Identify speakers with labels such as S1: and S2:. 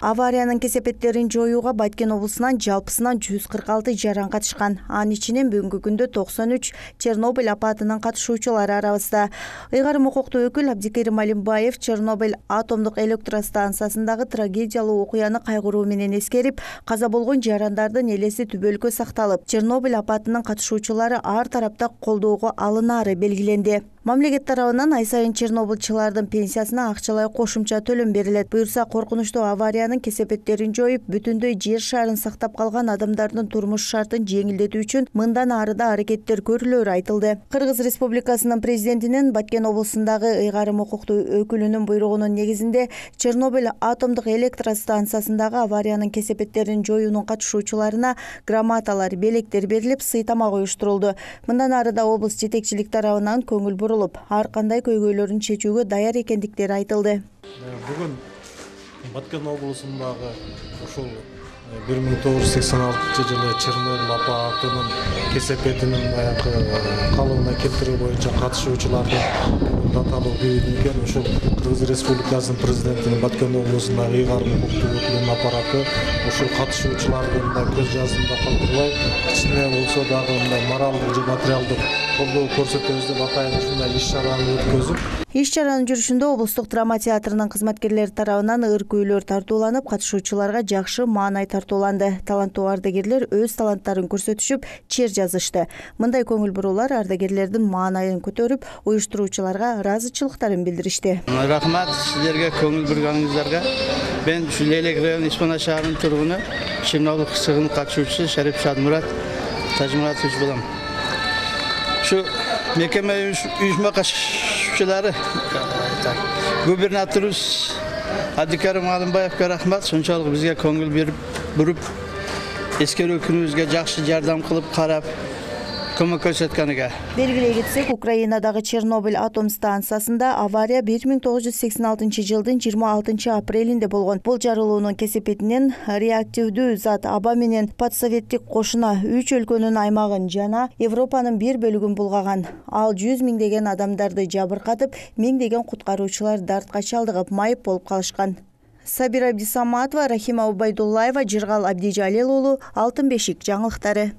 S1: Авариянын кесепеттерин жоюуга Баткен облусунан жалпысынан 146 жаран катышкан. Анын ичинен бүгүнкү күндө 93 Чернобыль апатынын катышуучулары арабызда. Ыйгарым укуктуу өкүл Абдикерим Алимбаев Чернобыль атомдук электростанциясындагы трагедиялуу окуяны кайгыруу менен эскерип, каза болгон жарандардын элеси түбөлүккө сакталып, Чернобыль апатынын катышуучулары ар тарапта колдоого алынаары белгиленди. Мамлекет тарабынан ай сайын чернобыльчылардын пенсиясына акчалай кошумча төлөм берилет. Буюрса, коркунучтуу авариянын кесепеттерин жоюп, бүтүндөй жер шарын сактап калган адамдардын турмуш шартын жеңилдетүү үчүн мындан ары да аракеттер көрүлөөрү айтылды. Кыргыз Республикасынын президентинин Баткен облусундагы ыйгарым укуктуу өкүлүнүн буйругунун негизинде Чернобыль атомдук электростанциясындагы авариянын кесепеттерин жоюунун катышуучуларына грамоталар, белектер берилип, сый тамак уюштурулду. Мындан ары да облус жетекчилик тарабынан көңүл бурулуп, ар кандай көйгөйлөрүн чечүүгө даяр экендиктери айтылды.
S2: Бүгүн Баткен облусундагы ушул 1986 жылы Чернобыль апатынын кесепетинин калыбына келтирүү боюнча катышуучулардын даталуу күнү экен. Ушул Кыргыз Республикасынын президентинин Баткен облусундагы ыйгарым укуктуу өкүлүнүн аппараты ушул катышуучулардын да көз жазында калтырбай, кичине болсо дагы мындай моралдык же материалдык колдоо көрсөтөбүз деп атайын ушундай иш-чараны өткөзүп.
S1: Иш-чаранын жүрүшүндө облустук драма театрынын кызматкерлери тарабынан ыр күүлөр тартууланып, катышуучуларга жакшы маанай тартууланды. Таланттуу ардагерлер өз таланттарын көрсөтүшүп, чер жазышты. Мындай көңүл буруулар ардагерлердин маанайын көтөрүп, уюштуруучуларга ыраазычылыктарын билдиришти.
S3: Рахмат сиздерге көңүл бурганыңыздарга. Мен ушул Элек району Испана шаарынын тургуну, Чернобыль кысыгынын катышуучусу Шарип Шадмурат Тажмуратович болом. Şu mekeme uyuşma kaçışçıları gubernatörümüz Abdikerim Alimbayev'e rahmet. Sonçalık bizge köngül berip burup eskeri günümüzge жақсы жардам кылып карап көмөк көрсөткөнүгө.
S1: Белгилей кетсек, Украинадагы Чернобыль атом станциясында авария 1986 жылдын 26 апрелинде болгон. Бул жарылуунун кесепетинен реактивдүү зат аба менен подсоветтик кошуна 3 өлкөнүн аймагын жана Европанын бир бөлүгүн булгаган. Ал 100 миңдеген адамдарды жабыркатып, миңдеген куткаруучулар дартка чалдыгып, майып болуп калышкан. Сабира Абдисаматова, Рахима Убайдуллаева, Жыргал Абдижалил уулу, Алтын бешик жаңылыктары.